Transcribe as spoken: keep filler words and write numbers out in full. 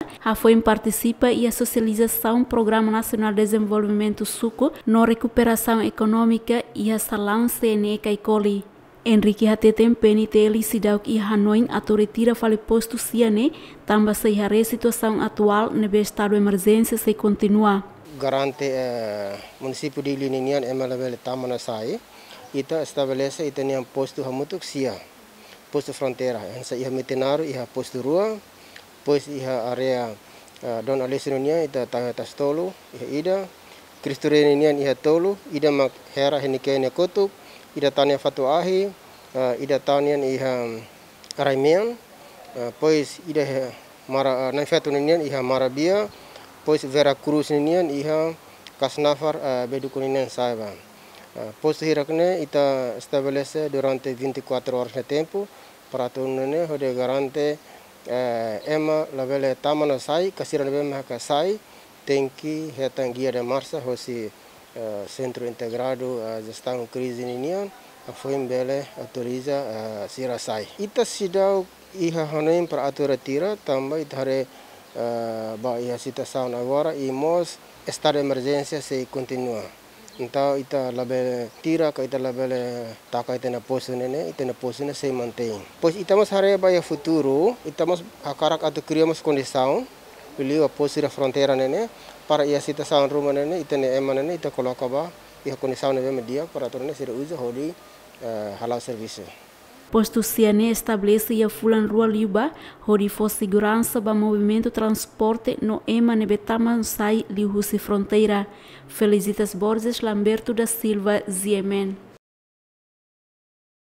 hafoin partisipa iha sosializasaun Programa Nasionál Dezenvolvimentu Suku no Rekuperasaun Ekonómika iha salaun C N E Caicoli. Henrique hateten PNTL seidauk iha hanoin atu retira fali postu sia ne'e, tanba sei haree situasaun atuál ne'ebé estadu emerjénsia sei kontinua. Garante, eh, munisípiu Dili ninian ema labele tama no sai, ita estabelese ita-nian postu hamutuk sia. Postu fronteira, hanesan iha Metinaro iha postu rua, depois iha área, ah, Dom Aleixo ninian ita tau iha Tasi Tolu, iha ida, Cristo Rei ninian iha tolu, ida mak Hera Henikene kotuk, ida tan iha Fatuahi, ah, ida tan iha Raimean, ah, depois ida iha Mara, ah, Na'in Feto ninian iha Marabia, depois Vera Cruz ninian iha Kasnafar, ah, Beduku ninian sai ba. Ah, postu hirak ne'e ita estabelese durante vinte e quatro horas nia tempu, para atu nune'e hodi garante, eh, ema labele tama no sai, ka sira ne'ebé mak hakarak sai, tenke hetan guia de marcha hosi, eh, Sentru Integradu, eh, Jestaun Krize ninian, hafoin bele autoriza, eh, sira sai. Ita seidauk iha hanoin para atu retira, tanba ita haree, eh, ba iha situasaun agora, i mós estadu emerjénsia sei kontinua. Entaun ita labele tira ka ita labele taka ita-nia postu ne'e ne'e, ita-nia postu ne'e sei mantein. Depois ita mós haree ba iha futuru, ita mós hakarak atu kria mós kondisaun, liuliu ba postu iha fronteira ne'e ne'e, para iha situasaun ruma ne'e ne'e, ita-nia ema ne'e ne'e, ita koloka ba iha kondisaun ne'ebé mak di'ak para atu nune'e sira uza hodi, eh, hala'o servisu. Postu sia ne'e estabelese iha fulan rua liubá, hodi fó seguransa ba movimentu transporte no ema ne'ebé tama no sai liuhusi fronteira. Felicitas Borges, Lamberto da Silva, G M N.